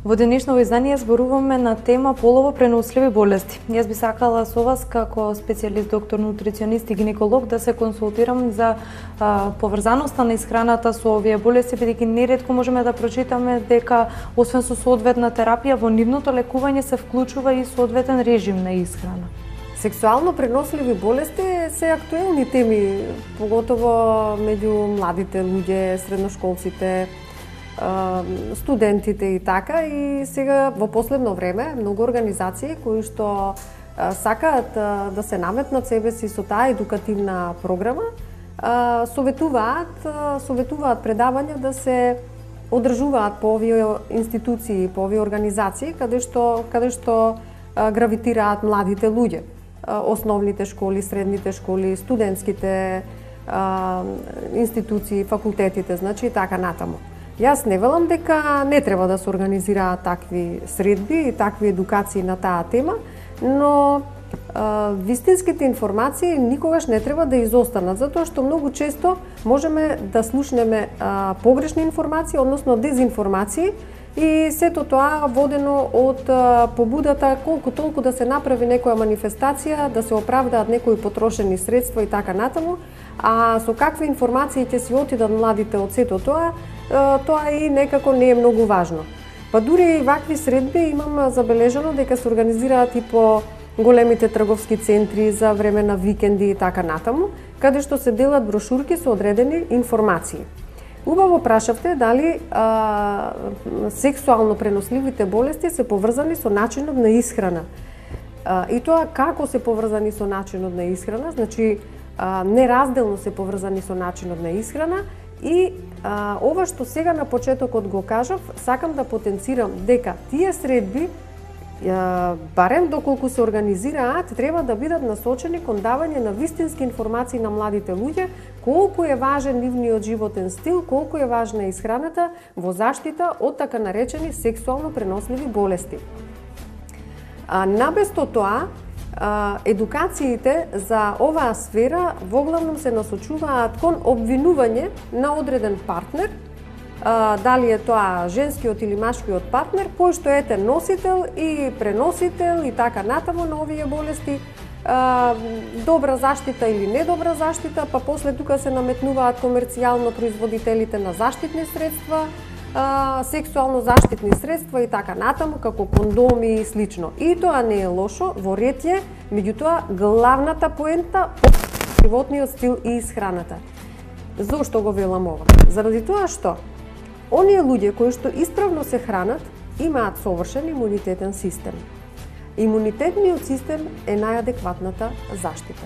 Во денешното издание зборуваме на тема полово преносливи болести. Јас би сакала со вас како специјалист, доктор, нутриционист и гинеколог да се консултирам за поврзаноста на исхраната со овие болести, бидејќи неретко можеме да прочитаме дека освен со соодветна терапија во нивното лекување се вклучува и соодветен режим на исхрана. Сексуално преносливи болести се актуелни теми, поготово меѓу младите луѓе, средношколците, студентите и така. И сега во последно време многу организации кои што сакаат да се наметнат себе си со таа едукативна програма, советуваат предавања да се одржуваат по овие институции, по овие организации каде што гравитираат младите луѓе. Основните школи, средните школи, студентските институции, факултетите, значи и така натаму. Јас не велам дека не треба да се организираат такви средби и такви едукации на таа тема, но вистинските информации никогаш не треба да изостанат, затоа што многу често можеме да слушнеме погрешни информации, односно дезинформации, и сето тоа водено од побудата колку толку да се направи некоја манифестација, да се оправдаат некои потрошени средства и така натаму, а со какви информации ќе си отидат младите од сето тоа, тоа и некако не е многу важно. Па дури и вакви средби имам забележано дека се организираат и по големите трговски центри за време на викенди и така натаму, каде што се делат брошурки со одредени информации. Убаво прашавте дали сексуално преносливите болести се поврзани со начинот на исхрана. И тоа како се поврзани со начинот на исхрана, значи неразделно се поврзани со начинот на исхрана. И ова што сега на почетокот го кажав, сакам да потенцирам дека тие средби, барем доколку се организираат, треба да бидат насочени кон давање на вистински информации на младите луѓе, колку е важен нивниот животен стил, колку е важна исхраната во заштита од така наречени сексуално преносливи болести. Набесто тоа, едукациите за оваа сфера воглавном се насочуваат кон обвинување на одреден партнер, дали е тоа женскиот или машкиот партнер, кој што ете носител и преносител и така натаму на овие болести, добра заштита или недобра заштита, па после тука се наметнуваат комерцијално производителите на заштитни средства, сексуално заштитни средства и така натаму, како кондоми и слично. И тоа не е лошо, во ред е, меѓутоа главната поента од животниот стил и исхраната. Зошто го велам ова? Заради тоа што оние луѓе кои што исправно се хранат имаат совршен имунитетен систем. Имунитетниот систем е најадекватната заштита.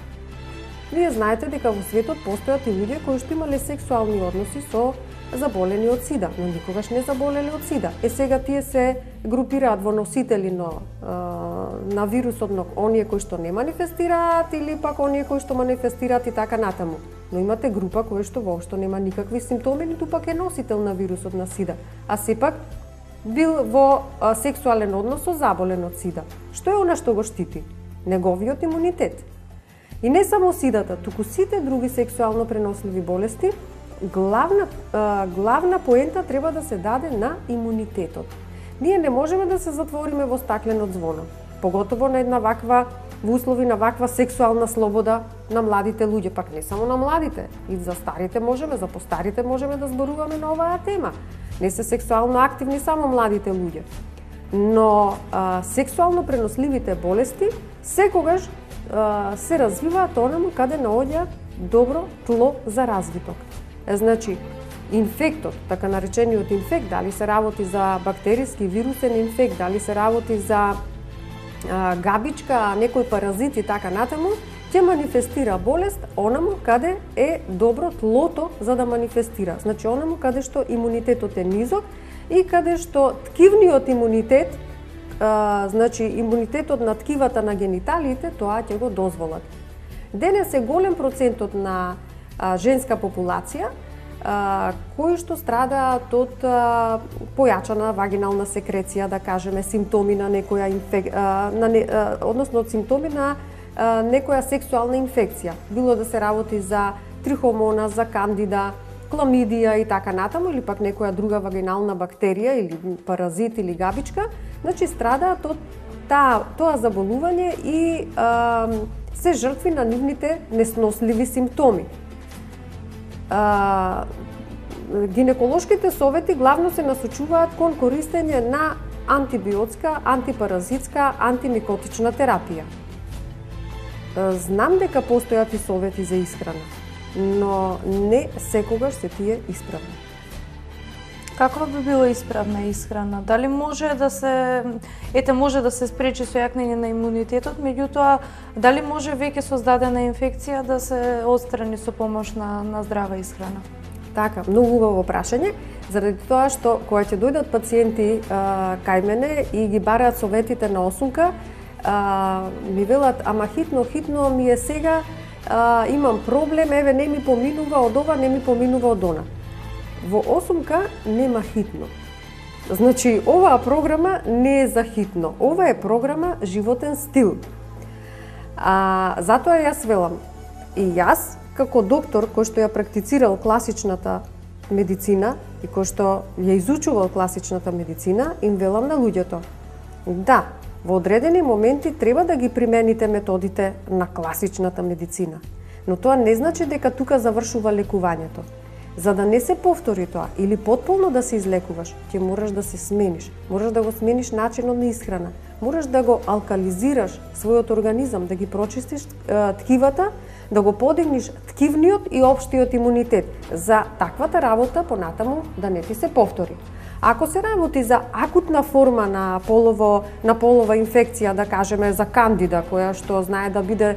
Вие знаете дека во светот постојат и луѓе кои што имале сексуални односи со заболени од сида, но никогаш не заболеле од сида. Сега тие се групираат во носители на вирусот, но оние кои што не манифестираат или пак оние кои што манифестираат и така натаму. Но имате група кои што воопшто нема никакви симптоми, ниту пак е носител на вирусот на сида, а сепак бил во сексуален однос со заболен од сида. Што е она што го штити? Неговиот имунитет. И не само сидата, туку сите други сексуално преносливи болести, главна поента треба да се даде на имунитетот. Ние не можеме да се затвориме во стаклено звоно, поготово на една ваква, во услови на ваква сексуална слобода на младите луѓе, пак не само на младите, и за старите можеме, за постарите можеме да зборуваме на оваа тема. Не се сексуално активни само младите луѓе. Но сексуално преносливите болести секогаш се развиваат онаму каде наоѓаат добро тло за развиток. Значи, инфектот, така наречениот инфект, дали се работи за бактериски, вирусен инфект, дали се работи за габичка, некој паразит и така натаму, ќе манифестира болест онаму каде е добро тлото за да манифестира. Значи, онаму каде што имунитетот е низок и каде што ткивниот имунитет, значи имунитетот на ткивата на гениталиите, тоа ќе го дозволат. Денес е голем процентот на женска популација кои што страдаат од појачана вагинална секреција, да кажеме, симптоми на некоја односно од симптоми на некоја сексуална инфекција. Било да се работи за трихомона, за кандида, кламидија и така натаму, или пак некоја друга вагинална бактерија или паразит или габичка, значи страдаат од тоа заболување и се жртви на нивните несносливи симптоми. Гинеколошките совети главно се насочуваат кон користење на антибиотска, антипаразитска, антимикотична терапија. Знам дека постојат и совети за исхрана, но не секогаш се тие исправни. Каква би била исправна исхрана? Дали може да се може да се спречи сојакнење на имунитетот, меѓутоа дали може веќе создадена инфекција да се отстрани со помош на здрава исхрана? Така, многу убаво прашање, заради тоа што кога ќе дојдат пациенти кај мене и ги бараат советите на осумка, ми велат, ама хитно ми е сега, имам проблем, еве не ми поминува од ова, не ми поминува од она. Во осумка нема хитно. Значи, оваа програма не е за хитно. Ова е програма животен стил. Затоа јас велам, и јас, како доктор кој што ја практицирал класичната медицина и кој што ја изучувал класичната медицина, им велам на луѓето. Да, во одредени моменти треба да ги примените методите на класичната медицина, но тоа не значи дека тука завршува лекувањето. За да не се повтори тоа или потполно да се излекуваш, ќе мораш да се смениш. Мораш да го смениш начинот на исхрана. Мораш да го алкализираш својот организам, да ги прочистиш ткивата, да го подигниш ткивниот и општиот имунитет. За таквата работа понатаму да не ти се повтори. Ако се работи за акутна форма на полова инфекција, да кажеме за кандида, која што знае да биде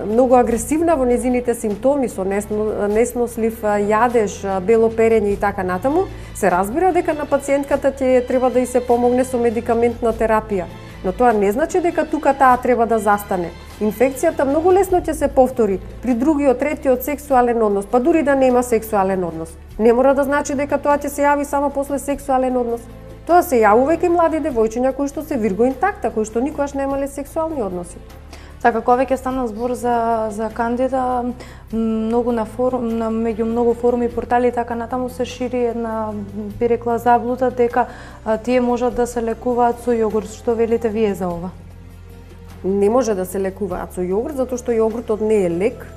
многу агресивна во незините симптоми, со неснослив јадеж, бело перење и така натаму, се разбира дека на пациентката ќе треба да ѝ се помогне со медикаментна терапија. Но тоа не значи дека тука таа треба да застане. Инфекцијата многу лесно ќе се повтори при другиот, третиот сексуален однос, па дури да нема сексуален однос. Не мора да значи дека тоа ќе се јави само после сексуален однос. Тоа се јавува и млади девојчиња кои што се вирго интакта, кои што никогаш немале сексуални односи. Така, кога веќе стана збор за кандида, меѓу многу форуми, портали и така натаму се шири една, би рекла, заблуда дека тие можат да се лекуваат со јогурт. Што велите вие за ова? Не може да се лекуваат со јогурт, затоа што јогуртот не е лек.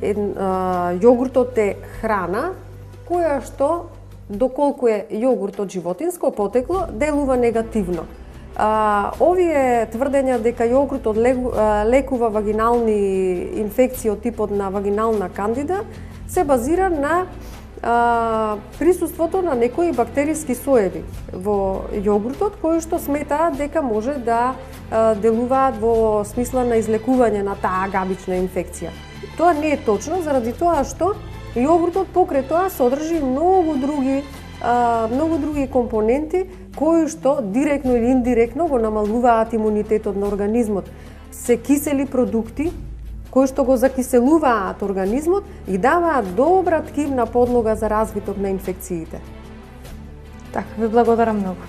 Јогуртот е храна која што, доколку е јогурт од животинско потекло, делува негативно. Овие тврдења дека јогуртот лекува вагинални инфекции од типот на вагинална кандида се базира на присуството на некои бактериски соеви во јогуртот кои што сметаат дека може да делуваат во смисла на излекување на таа габична инфекција. Тоа не е точно заради тоа што јогуртот покрај тоа содржи многу други компоненти кои што директно или индиректно го намалуваат имунитетот на организмот. Се кисели продукти кои што го закиселуваат организмот и даваат добра ткивна подлога за развиток на инфекциите. Така, ви благодарам многу.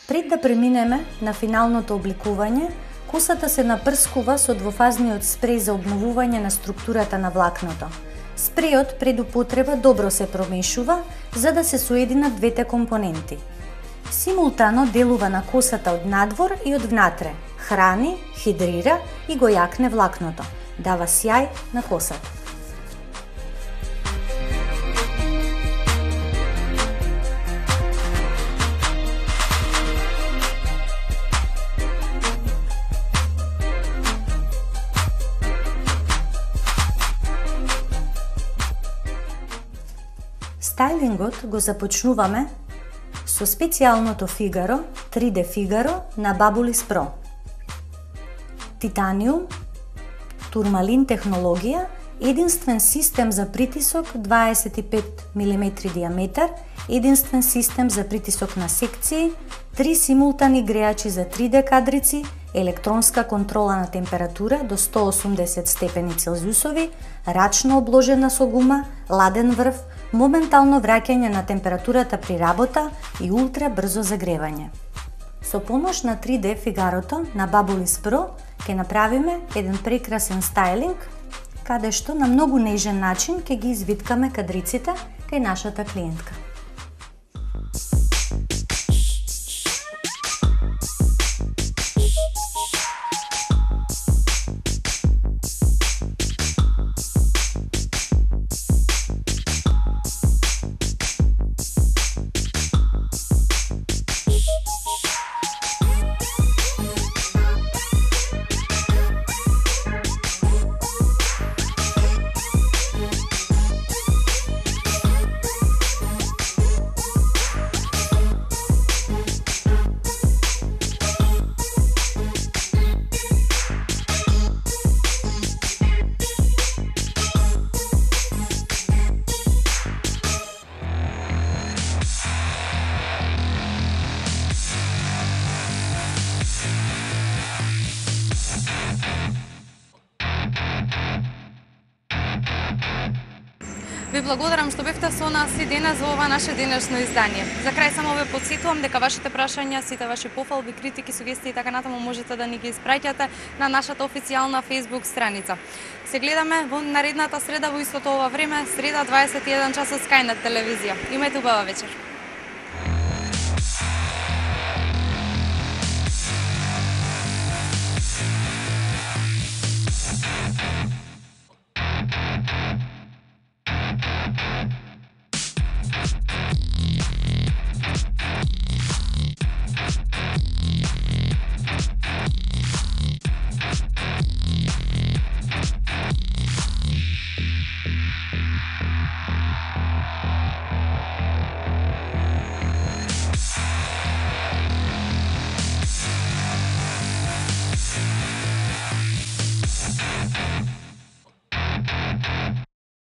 Пред да преминеме на финалното обликување, косата се напрскува со двофазниот спреј за обновување на структурата на влакното. Спрејот пред употреба добро се промешува за да се соединат двете компоненти. Симултано делува на косата од надвор и од внатре, храни, хидрира и го јакне влакното, дава сјај на косата. Стајлингот го започнуваме со специјалното Фигаро, 3D Фигаро на Babyliss Pro. Титаниум, турмалин технологија, единствен систем за притисок 25 мм диаметар, единствен систем за притисок на секции, 3 симултани греачи за 3D кадрици, електронска контрола на температура до 180 степени Целзиусови, рачно обложена со гума, ладен врв, моментално враќање на температурата при работа и ултра брзо загревање. Со помош на 3D Фигарото на Babyliss Pro ќе направиме еден прекрасен стајлинг каде што на многу нежен начин ќе ги извиткаме кадриците кај нашата клиентка. Ви благодарам што бевте со нас и денес во ова наше денешно издание. За крај само ве потсетувам дека вашите прашања, сите ваши пофалби, критики, сугестии и така натаму можете да ни ги испраќате на нашата официјална Facebook страница. Се гледаме во наредната среда во истото ова време, среда 21 часот Skynet телевизија. Имајте убава вечер.